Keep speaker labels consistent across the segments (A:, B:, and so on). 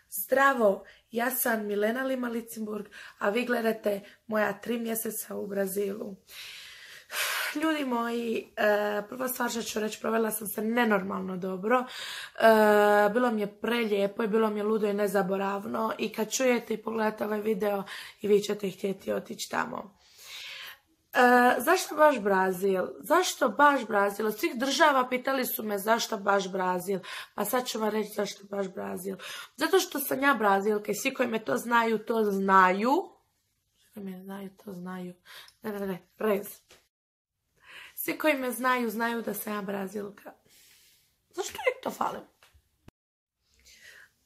A: Zdravo, ja sam Milena Lima-Licinburg, a vi gledate moja 3 mjeseca u Brazilu. Ljudi moji, prva stvar što ću reći, provela sam se nenormalno dobro. Bilo mi je prelijepo i bilo mi je ludo i nezaboravno. I kad čujete i pogledate ovaj video, i vi ćete htjeti otići tamo. Zašto baš Brazil? Zašto baš Brazil? Od svih država pitali su me zašto baš Brazil. Pa sad ću vam reći zašto baš Brazil. Zato što sam ja Brazilka i svi koji me to znaju, to znaju. Svi koji me znaju, to znaju. Ne, rez. Svi koji me znaju, znaju da sam ja Brazilka. Zašto uvijek to falim?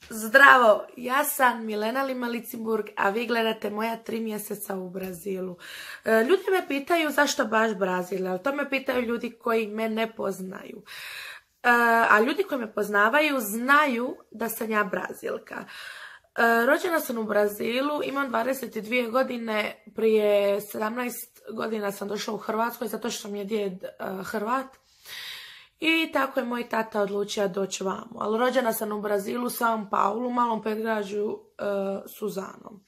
A: Zdravo, ja sam Milena Lima-Licinburg, a vi gledate moja 3 mjeseca u Brazilu. Ljudi me pitaju zašto baš Brazil, ali to me pitaju ljudi koji me ne poznaju. A ljudi koji me poznavaju znaju da sam ja Brazilka. Rođena sam u Brazilu, imam 22 godine, prije 17 godina sam došla u Hrvatskoj zato što mi je djed Hrvat. I tako je moj tata odlučio doći vamo. Ali rođena sam u Brazilu, São Paulo, malom predgrađu Suzanom.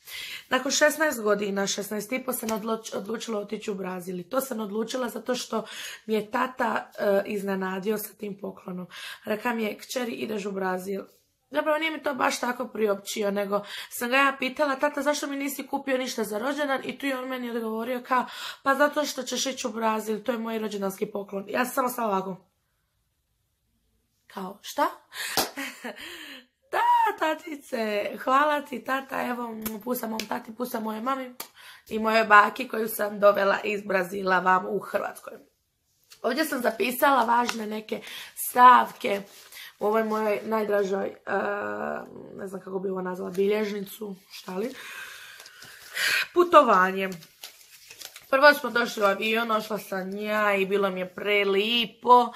A: Nakon 16 godina, 16,5 sam odlučila otići u Brazil. I to sam odlučila zato što mi je tata iznenadio sa tim poklonom. Reka mi je, kćeri, ideš u Brazil. Zapravo nije mi to baš tako priopćio, nego sam ga ja pitala, tata, zašto mi nisi kupio ništa za rođendan? I tu je on meni odgovorio kao, pa zato što ćeš ići u Brazil, to je moj rođendanski poklon. Ja sam samo stala ovako. Kao, šta? Da, tatice, hvala ti, tata, evo, pusa mom tati, pusa moje mami i moje baki koju sam dovela iz Brazila vam u Hrvatskoj. Ovdje sam zapisala važne neke stavke u ovoj mojoj najdražoj, ne znam kako bi ovo nazvala, bilježnicu, šta li? Putovanje. Prvo smo došli u avion, ošla sam ja i bilo mi je prelipo.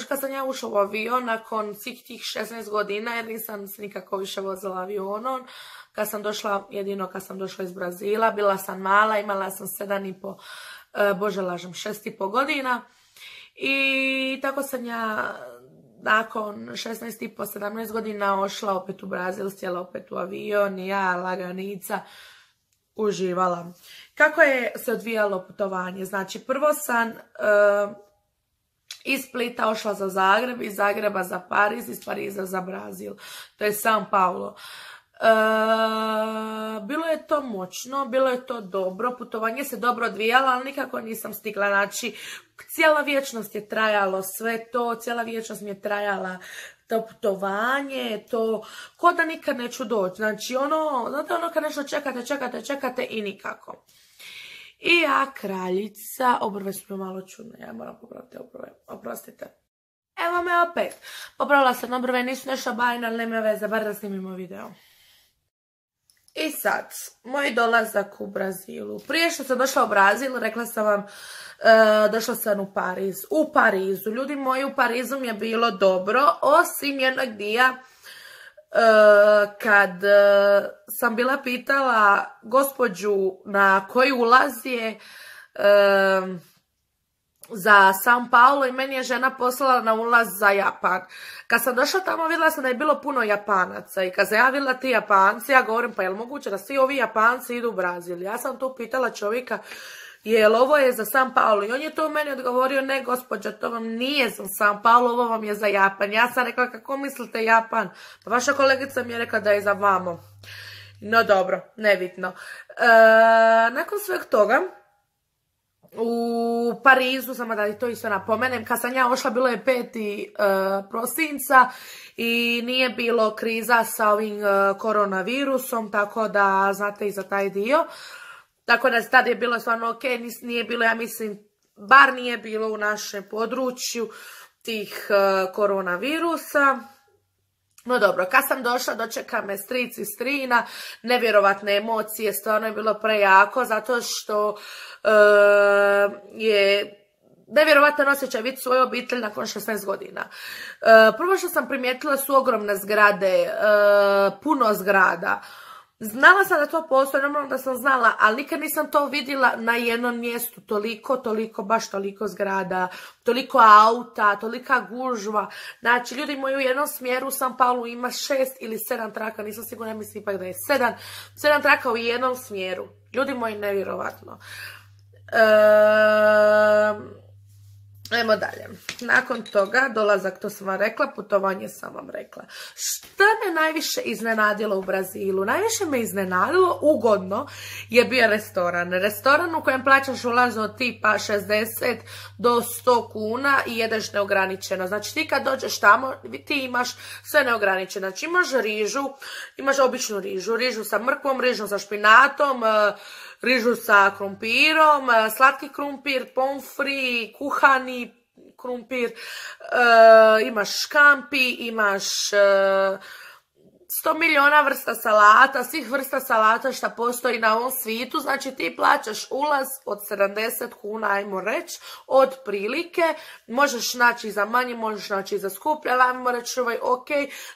A: Kad sam ja ušla u avion nakon svih tih 16 godina, jer nisam se nikako više vozila avionom, jedino kad sam došla iz Brazila, bila sam mala, imala sam 6,5 godina i tako sam ja nakon 16,5, 17 godina ošla opet u Brazil, sjela opet u avion i ja, laganica, uživala. Kako je se odvijalo putovanje? Znači, prvo sam iz Splita ošla za Zagreb, iz Zagreba za Pariz, iz Pariza za Brazil. To je São Paulo. Bilo je to moćno, bilo je to dobro, putovanje se dobro odvijalo, ali nikako nisam stigla. Znači, cijela vječnost je trajalo sve to, cijela vječnost mi je trajala to putovanje, to ko da nikad neću doći. Znači, znate kad nešto čekate i nikako. I ja, kraljica, obrve su mi malo čudne, ja moram popraviti obrve, oprostite. Evo me opet, popravila sam obrve, nisu nešto bajne, ali nema veze, bar da snimimo video. I sad, moj dolazak u Brazilu. Prije što sam došla u Brazil, rekla sam vam, došla sam u Pariz. U Parizu, ljudi moji, u Parizu mi je bilo dobro, osim jednog dija, kad sam bila pitala gospođu na koji ulaz je za São Paulo i meni je žena poslala na ulaz za Japan. Kad sam došla tamo vidjela sam da je bilo puno Japanaca i kad sam ja vidjela ti Japanci, ja govorim, pa je li moguće da svi ovi Japanci idu u Brazil? Ja sam tu pitala čovjeka, jel ovo je za São Paulo? I on je to meni odgovorio, ne gospođa, to vam nije za São Paulo, ovo vam je za Japan. Ja sam rekla, kako mislite Japan? Pa vaša kolegica mi je rekla da je za vamo. No dobro, nebitno. Nakon sveg toga, u Parizu, samo da to isto napomenem, kad sam ja ošla, bilo je 5. prosinca i nije bilo kriza sa ovim koronavirusom, tako da znate i za taj dio. Tako da tad je bilo stvarno ok, nije bilo, ja mislim, bar nije bilo u našem području tih koronavirusa. No dobro, kad sam došla, dočeka me stric i strina, nevjerovatne emocije, stvarno je bilo prejako, zato što je nevjerovatan osjećaj vidjeti svoju obitelj nakon 16 godina. Prvo što sam primijetila su ogromne zgrade, puno zgrada. Znala sam da to postoji, normalno da sam znala, ali nikad nisam to vidjela na jednom mjestu. Baš toliko zgrada, toliko auta, tolika gužva. Znači, ljudi moji, u jednom smjeru u San Paulu ima 6 ili 7 traka, nisam sigurna, mislim ipak da je 7 traka u jednom smjeru. Ljudi moji, nevjerovatno. Ajmo dalje. Nakon toga, dolazak, to sam vam rekla, putovanje sam vam rekla. Šta me najviše iznenadilo u Brazilu? Najviše me iznenadilo, ugodno, je bio restoran. Restoran u kojem plaćaš ulaz od tipa 60 do 100 kuna i jedeš neograničeno. Znači ti kad dođeš tamo, ti imaš sve neograničeno. Znači imaš rižu, imaš običnu rižu, rižu sa mrkvom, rižu sa špinatom, rižu sa krumpirom, slatki krumpir, pomfri, kuhani krumpir, imaš škampi, imaš 100 milijuna vrsta salata, svih vrsta salata što postoji na ovom svijetu. Znači ti plaćaš ulaz od 70 kuna, ajmo reći, od prilike. Možeš naći za manje, možeš naći za skuplje, ali ajmo reći ok,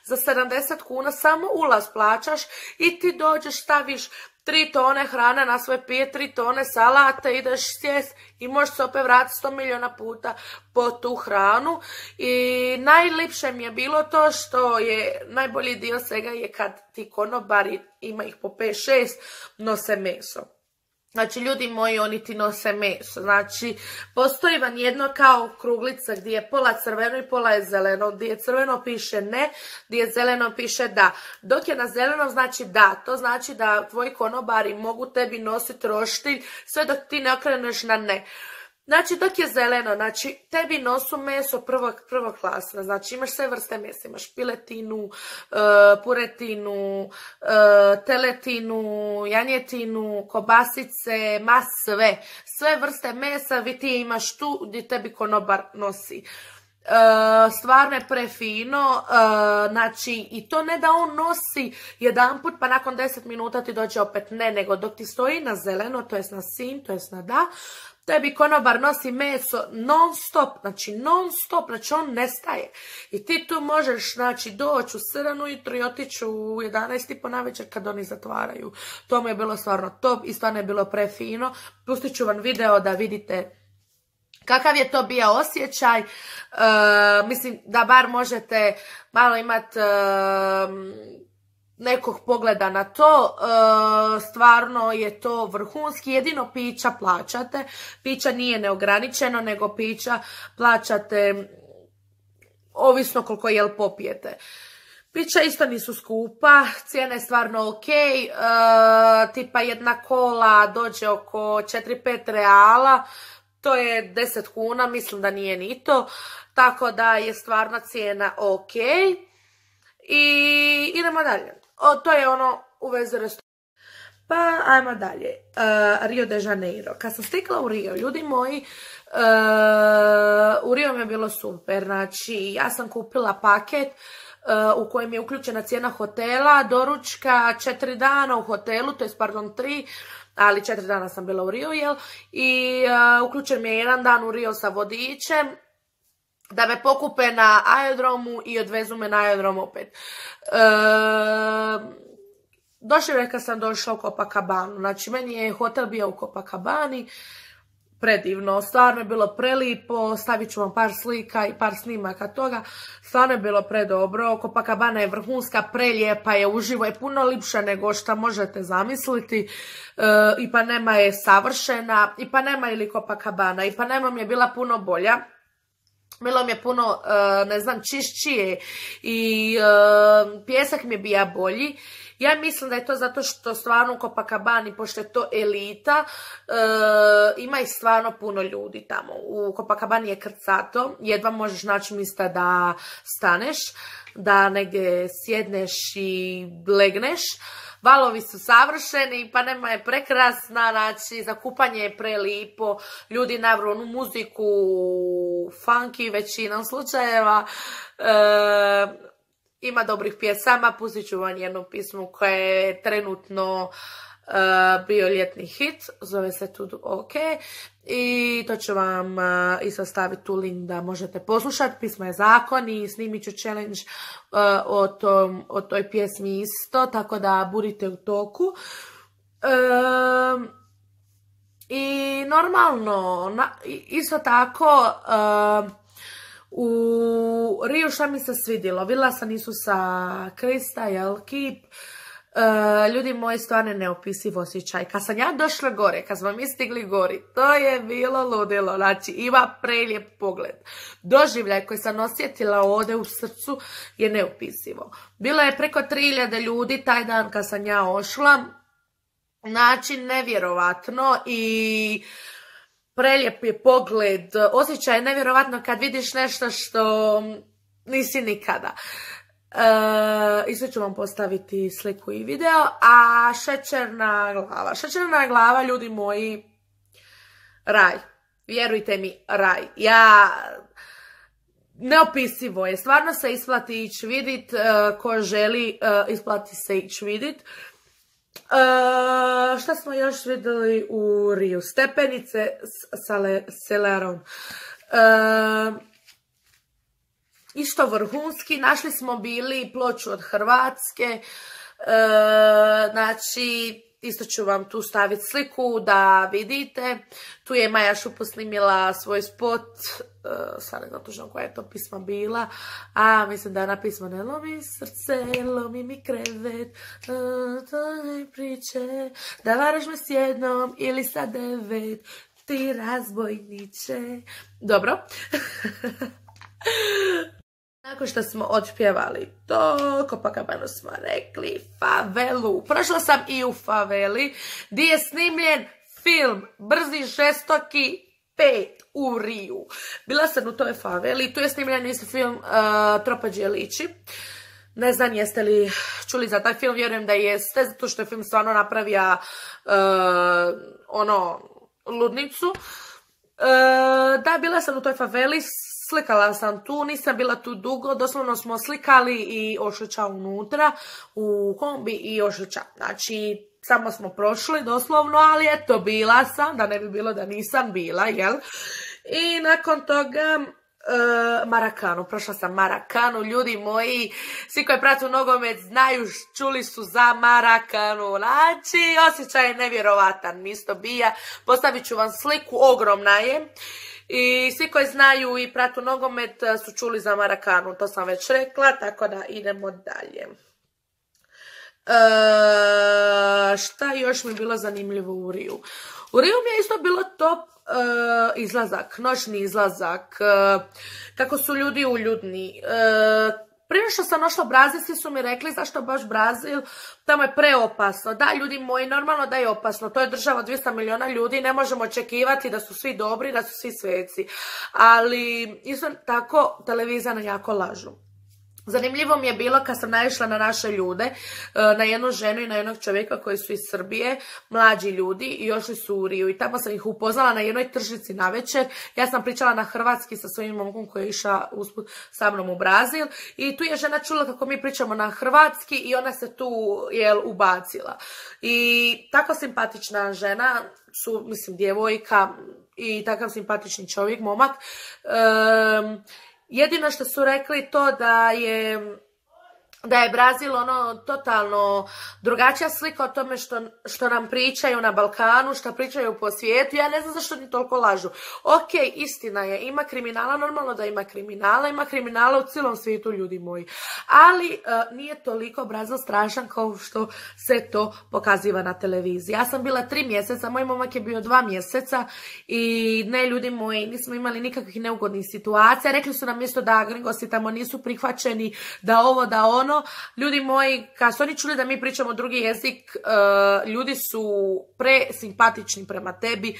A: za 70 kuna samo ulaz plaćaš i ti dođeš, staviš 3 tone hrane na svoje pije, 3 tone salata, ideš sjest i možeš se opet vratiti 100 milijuna puta po tu hranu. I najljepše mi je bilo to što je najbolji dio svega je kad ti konobari, ima ih po 5-6, nose meso. Znači, ljudi moji, oni ti nose meso. Znači, postoji vam jedno kao kruglica gdje je pola crveno i pola je zeleno. Gdje je crveno piše ne, gdje je zeleno piše da. Dok je na zeleno znači da. To znači da tvoji konobari mogu tebi nositi roštilj sve dok ti ne okreneš na ne. Znači, dok je zeleno, znači, tebi nosu meso prvoklasno. Znači, imaš sve vrste mesa. Imaš piletinu, puretinu, teletinu, janjetinu, kobasice, sve. Sve vrste mesa vi ti imaš tu gdje tebi konobar nosi. Stvarno je prefino, znači, i to ne da on nosi jedanput pa nakon 10 minuta ti dođe opet ne, nego dok ti stoji na zeleno, to jest na sin, to jest na da, tebi konobar nosi meso non stop, znači on nestaje. I ti tu možeš, znači, doći u 7 ujutro i otići u 11 po navečer kad oni zatvaraju. To mi je bilo stvarno top i stvarno je bilo prefino. Pustit ću vam video da vidite kakav je to bio osjećaj. Mislim da bar možete malo imati nekog pogleda na to. Stvarno je to vrhunski. Jedino pića plaćate. Pića nije neograničeno, nego pića plaćate ovisno koliko jel popijete. Pića isto nisu skupa, cijena je stvarno ok, tipa jedna kola dođe oko 4-5 reala, to je 10 kuna, mislim da nije ni to, tako da je stvarno cijena ok. I idemo dalje. To je ono u vezi restorana. Pa ajmo dalje. Rio de Janeiro. Kad sam stigla u Rio, ljudi moji, u Rio mi je bilo super. Znači, ja sam kupila paket u kojem je uključena cijena hotela, doručka, 4 dana u hotelu, to je pardon 3, ali 4 dana sam bila u Rio, jel? I uključen mi je 1 dan u Rio sa vodičem, da me pokupe na aerodromu i odvezu me na aerodrom opet. Došli sam došla u Copacabanu, znači meni je hotel bio u Copacabani, predivno, stvarno je bilo prelipo, stavit ću vam par slika i par snimaka toga, stvarno je bilo predobro. Copacabana je vrhunska, prelijepa je, uživo je puno lipša nego što možete zamisliti. Ipanema je savršena, Ipanema ili Copacabana, Ipanema mi je bila puno bolja. Bilo mi je puno, ne znam, čišćije i pjesak mi je bio bolji. Ja mislim da je to zato što stvarno u Copacabani, pošto je to elita, ima i stvarno puno ljudi tamo. U Copacabani je krcato, jedva možeš naći mjesta da staneš, da negdje sjedneš i legneš. Valovi su savršeni, Ipanema je prekrasna, znači za kupanje je prelipo, ljudi navru onu muziku, funky većinom slučajeva, ima dobrih pjesama, pustit ću vam jednu pismu koja je trenutno bio ljetni hit, zove se Tudu OK, i to ću vam isto staviti tu link da možete poslušati. Pismo je zakon i snimit ću challenge o toj pjesmi isto, tako da budite u toku. I normalno, isto tako, u Riju šta mi se svidjelo, vidjela sam Isusa Krista, Kip, ljudi moji, stvarno neopisiv osjećaj. Kad sam ja došla gore, kad smo mi stigli gori, to je bilo ludilo, znači ima prelijep pogled. Doživljaj koji sam osjetila ovdje u srcu je neopisivo. Bilo je preko 3000 ljudi taj dan kad sam ja ošla, znači nevjerovatno i prelijep je pogled, osjećaj je nevjerovatno kad vidiš nešto što nisi nikada. Isto ću vam postaviti sliku i video, a šećerna glava. Šećerna glava, ljudi moji, raj. Vjerujte mi, raj. Neopisivo je. Stvarno se isplati ići vidit. Ko želi, isplati se ići vidit. Šta smo još vidjeli u Riju? Stepenice s Celeron. Isto vrhunski, našli smo bili ploču od Hrvatske, znači isto ću vam tu staviti sliku da vidite. Tu je Maja Šupo snimila svoj spot, sad ne znam točno koja je to pisma bila, a mislim da je ona pisma ne lomi srce, lomi mi krevet, to ne priče, da varaš me s jednom ili sa 9, ti razbojniče. Dobro. Nakon što smo odpjevali to, Copacabanu smo rekli, favelu. Prošla sam i u faveli, gdje je snimljen film Brzi žestoki 5 u Riju. Bila sam u toj faveli, tu je snimljen isto film Tropađe liči. Ne znam jeste li čuli za taj film, vjerujem da jeste, zato što je film stvarno napravio ludnicu. Da, bila sam u toj faveli, slikala sam tu, nisam bila tu dugo, doslovno smo slikali i ošlića unutra, u kombi i ošlića. Znači, samo smo prošli doslovno, ali eto, bila sam, da ne bi bilo da nisam bila, jel? I nakon toga Marakanu, prošla sam Marakanu, ljudi moji, svi koji prate nogomet znaju, čuli su za Marakanu, znači osjećaj je nevjerovatan, isto bija, postavit ću vam sliku, ogromna je. I svi koji znaju i pratu nogomet su čuli za Marakanu, to sam već rekla, tako da idemo dalje. Šta još mi je bilo zanimljivo u Riju? U Riju mi je isto bilo top izlazak, noćni izlazak, kako su ljudi uljudni. Prije što sam došla u Brazil, svi su mi rekli zašto baš Brazil, tamo je preopasno. Da, ljudi moji, normalno da je opasno, to je država od 200 milijuna ljudi, ne možemo očekivati da su svi dobri, da su svi sveci. Ali isto tako televizija nam jako lažu. Zanimljivo mi je bilo kad sam naišla na naše ljude, na jednu ženu i na jednog čovjeka koji su iz Srbije, mlađi ljudi, i još su u Riju i tamo sam ih upoznala na jednoj tržnici navečer. Ja sam pričala na hrvatski sa svojim momkom koji je išao usput sa mnom u Brazil i tu je žena čula kako mi pričamo na hrvatski i ona se tu ubacila. I tako simpatična žena, mislim djevojka i takav simpatični čovjek, momak. Jedino što su rekli to da je Brazil totalno drugačija slika o tome što nam pričaju na Balkanu, što pričaju po svijetu. Ja ne znam zašto ni toliko lažu. Ok, istina je, ima kriminala, normalno da ima kriminala u cijelom svijetu, ljudi moji. Ali nije toliko Brazil strašan kao što se to pokaziva na televiziji. Ja sam bila 3 mjeseca, moj momak je bio 2 mjeseca i ne, ljudi moji, nismo imali nikakvih neugodnih situacija. Rekli su nam isto da gringosi tamo nisu prihvaćeni, da ovo, da ono. Ljudi moji, kad su oni čuli da mi pričamo drugi jezik, ljudi su presimpatični prema tebi.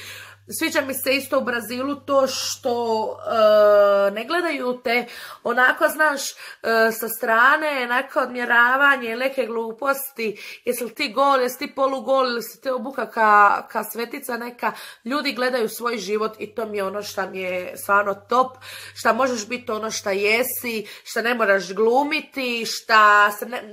A: sviđa mi se isto u Brazilu to što ne gledaju te onako, znaš, sa strane, neka odmjeravanje, neke gluposti, jesi li ti gol, jesi ti polugol, ili si te obuka ka svetica neka. Ljudi gledaju svoj život i to mi je ono što mi je stvarno top, što možeš biti ono što jesi, što ne moraš glumiti,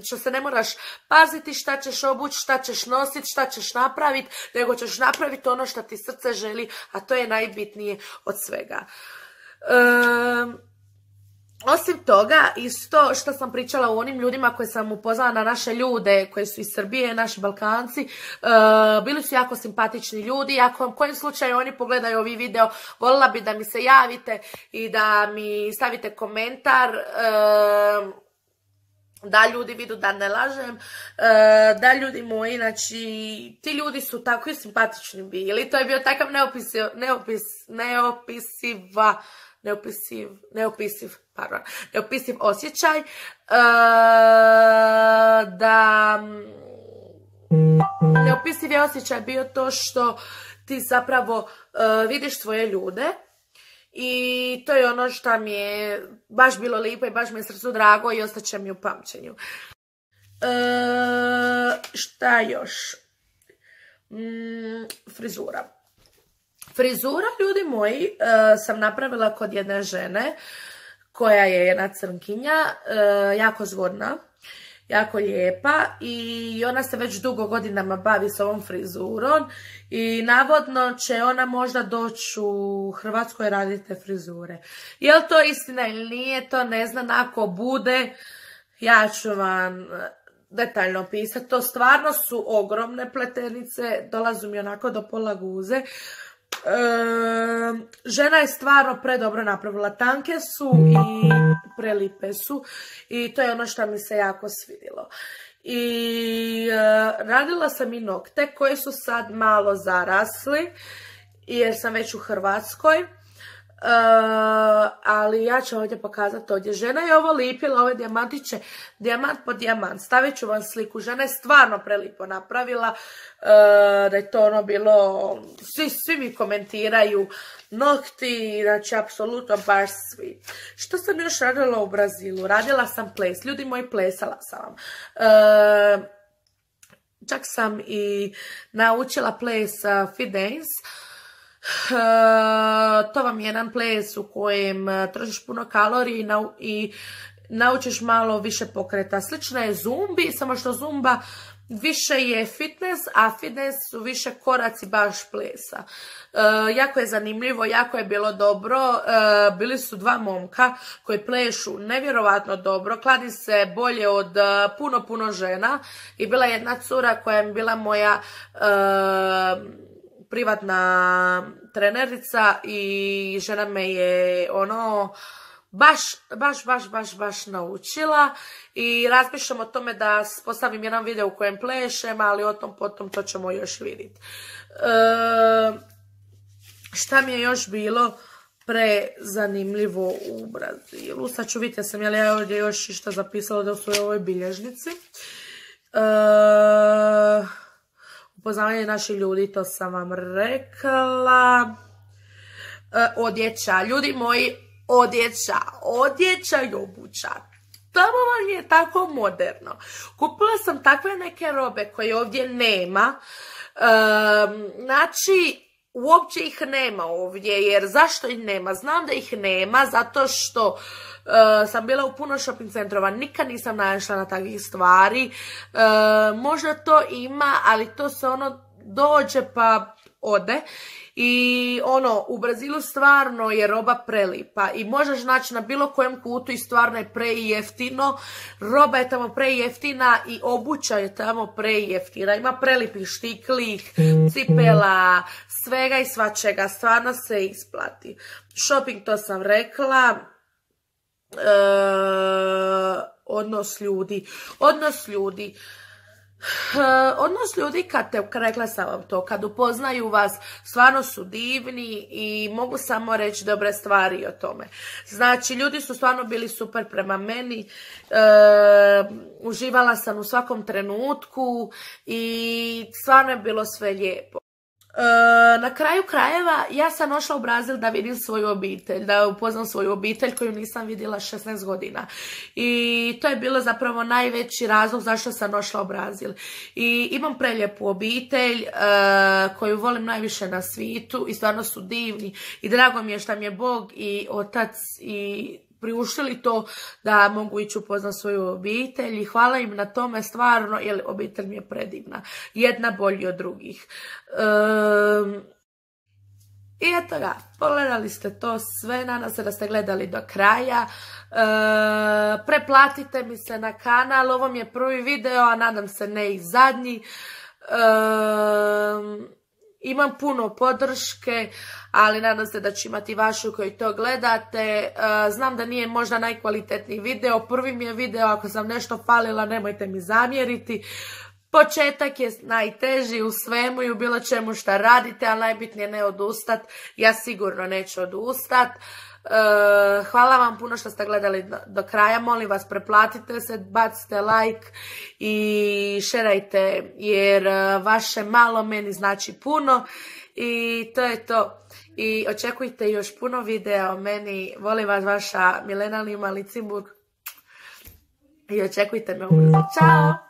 A: što se ne moraš paziti šta ćeš obući, šta ćeš nositi, šta ćeš napraviti, nego ćeš napraviti ono što ti srce želi, a to je najbitnije od svega. Osim toga, isto što sam pričala o onim ljudima koje sam upoznala na naše ljude, koji su iz Srbije, naši Balkanci, bili su jako simpatični ljudi. Ako u kojem slučaju oni pogledaju ovi video, voljela bi da mi se javite i da mi stavite komentar, da ljudi vidu da ne lažem, da ljudi moji, znači, ti ljudi su tako i simpatični bili. To je bio takav neopisiv osjećaj, da neopisiv je osjećaj bio to što ti zapravo vidiš svoje ljude. I to je ono što mi je baš bilo lijepo i baš mi je srcu drago i ostaće mi u pamćenju. Šta još? Frizura. Frizura, ljudi moji, sam napravila kod jedne žene koja je jedna crnkinja, jako zgodna, jako lijepa i ona se već dugo godinama bavi s ovom frizurom i navodno će ona možda doći u Hrvatskoj raditi te frizure. Je li to istina ili nije, to ne znam, ako bude, ja ću vam detaljno pisati. To stvarno su ogromne pletenice, dolazu mi onako do pola guze. Žena je stvarno predobro napravila, tanke su i prelipe su i to je ono što mi se jako svidjelo. I radila sam i nokte koji su sad malo zarasli jer sam već u Hrvatskoj. Ali ja ću ovdje pokazati ovdje. Žena je ovo lipila, ove dijamantiće, dijamant po dijamant. Stavit ću vam sliku. Žena je stvarno prelipo napravila, da je to ono bilo, svi mi komentiraju nokti, znači apsolutno baš svi. Što sam još radila u Brazilu? Radila sam ples, ljudi moji, plesala sam vam. Čak sam i naučila ples fit dance. To vam je jedan ples u kojem trošiš puno kalorija i naučiš malo više pokreta. Slično je zumbi, samo što zumba više je fitness, a fitness su više koraci baš plesa. Jako je zanimljivo, jako je bilo dobro. Bili su dva momka koji plešu nevjerovatno dobro, kladi se bolje od puno žena i bila jedna cura koja je bila moja privatna trenerica i žena me je ono baš naučila i razmišljam o tome da postavim jedan video u kojem plešem, ali o tom potom to ćemo još vidjeti. Šta mi je još bilo prezanimljivo u Brazilu? Sad ću vidjeti, sam ja ovdje još išta zapisala da su u ovoj bilježnici. Upoznavanje naših ljudi, to sam vam rekla. Odjeća, ljudi moji, odjeća i obuća. Tamo vam je tako moderno. Kupila sam takve neke robe koje ovdje nema. Znači, uopće ih nema ovdje, jer zašto ih nema? Znam da ih nema, zato što sam bila u puno shopping centrova, nikad nisam naišla na takvih stvari. Možda to ima, ali to se ono dođe pa ode. I ono, u Brazilu stvarno je roba prelipa i možeš naći na bilo kojem kutu i stvarno je prejeftino. Roba je tamo prejeftina i obuća je tamo prejeftina. Ima prelipih štiklih, cipela, svega i svačega. Stvarno se isplati. Shopping, to sam rekla. Odnos ljudi, rekla sam vam to, kad upoznaju vas, stvarno su divni i mogu samo reći dobre stvari o tome. Znači, ljudi su stvarno bili super prema meni, uživala sam u svakom trenutku i stvarno je bilo sve lijepo. Na kraju krajeva ja sam ošla u Brazil da vidim svoju obitelj, da upoznam svoju obitelj koju nisam vidjela 16 godina. I to je bilo zapravo najveći razlog zašto sam ošla u Brazil. I imam prelijepu obitelj koju volim najviše na svijetu i stvarno su divni. I drago mi je što mi je Bog i Otac i priuštili to da mogu ići upoznat svoju obitelj i hvala im na tome stvarno, jer obitelj mi je predivna. Jedna bolji od drugih. I eto ga, pogledali ste to sve, nadam se da ste gledali do kraja. Preplatite mi se na kanal, ovo mi je prvi video, a nadam se ne i zadnji. Imam puno podrške, ali nadam se da ću imati vašu koji to gledate. Znam da nije možda najkvalitetniji video, prvi mi je video, ako sam nešto falila nemojte mi zamjeriti. Početak je najteži u svemu i u bilo čemu šta radite, ali najbitnije ne odustat. Ja sigurno neću odustat. Hvala vam puno što ste gledali do kraja, molim vas preplatite se, bacite like i šerajte jer vaše malo meni znači puno i to je to. I očekujte još puno videa o meni, volim vas, vaša Milena Lima Licimburg i očekujte me ubrzo. Ćao!